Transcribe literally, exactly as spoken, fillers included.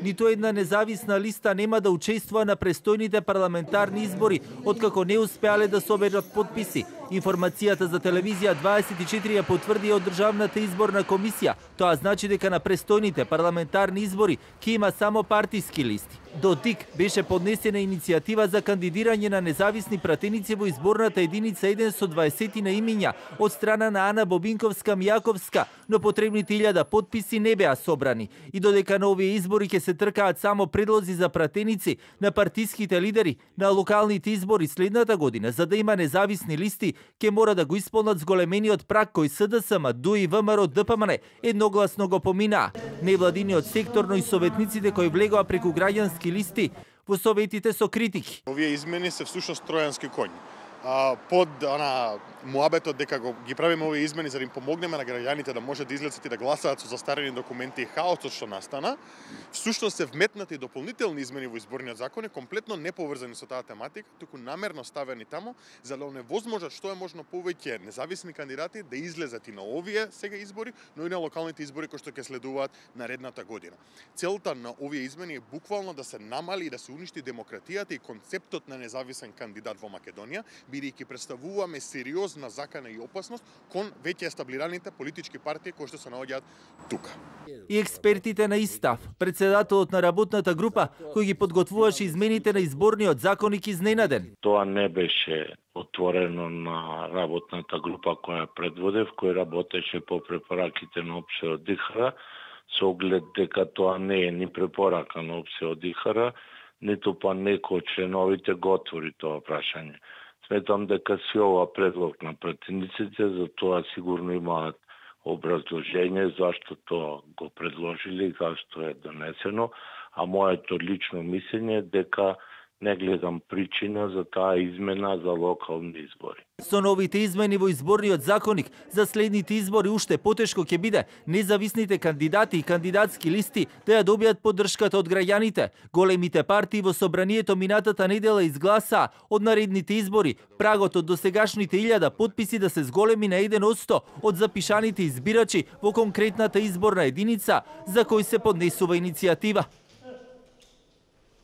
ниту една независна листа нема да учествува на престојните парламентарни избори, откако не успеале да соберат потписи. Информацијата за телевизија дваесет и четири ја потврди од Државната изборна комисија. Тоа значи дека на престојните парламентарни избори ќе има само партиски листи. До ТИК беше поднесена иницијатива за кандидирање на независни пратеници во изборната единица еден со дваесет на имиња од страна на Ана Бобинковска-Мјаковска, но потребните илјада потписи не беа собрани. И додека на овие избори ќе се тркаат само предлози за пратеници на партиските лидери, на локалните избори следната година, за да има независни листи, ќе мора да го исполнат зголемениот праг кој СДСМ, ДУИ, ВМРО, ДПМН едногласно го поминаа. Невладиниот сектор, но и советниците кои влегоа преку граѓански листи во советите со критики. Овие измени се всушност тројански коњ. Под она муабетот дека го ги правиме овие измени за да им помогнеме на граѓаните да може да излезат и да гласаат со застарени документи и хаосот што настана, всушност се вметнати дополнителни измени во изборниот закон, комплетно неповрзани со таа тематика, туку намерно ставени таму за да оневозможат што е можно повеќе независни кандидати да излезат и на овие сега избори, но и на локалните избори кои што ќе следуваат наредната година. Целта на овие измени е буквално да се намали и да се уништи демократијата и концептот на независен кандидат во Македонија, бидејќи представуваме сериозна закана и опасност кон веќе естаблираните политички партии кои што се наоѓаат тука. И експертите на ИСТАФ, председателот на работната група кој ги подготвуваше измените на изборниот законник, изненаден. Тоа не беше отворено на работната група која предводев, кој работеше по препораките на ОПСЕ од ИХРА, со оглед дека тоа не е ни препорака на ОПСЕ од ИХРА, ниту па некој од членовите го отвори тоа прашање. Сметам дека си ова предлог на пратениците, за тоа сигурно имаат образложение зашто тоа го предложили и зашто е донесено, а моето лично мислење е дека не гледам причина за таа измена за локални избори. Со новите измени во изборниот законник за следните избори уште потешко ќе биде независните кандидати и кандидатски листи да ја добијат поддршката од граѓаните. Големите партии во собранието минатата недела изгласаа од наредните избори прагот од досегашните илјада потписи да се зголеми на еден од сто од запишаните избирачи во конкретната изборна единица за кој се поднесува иницијатива.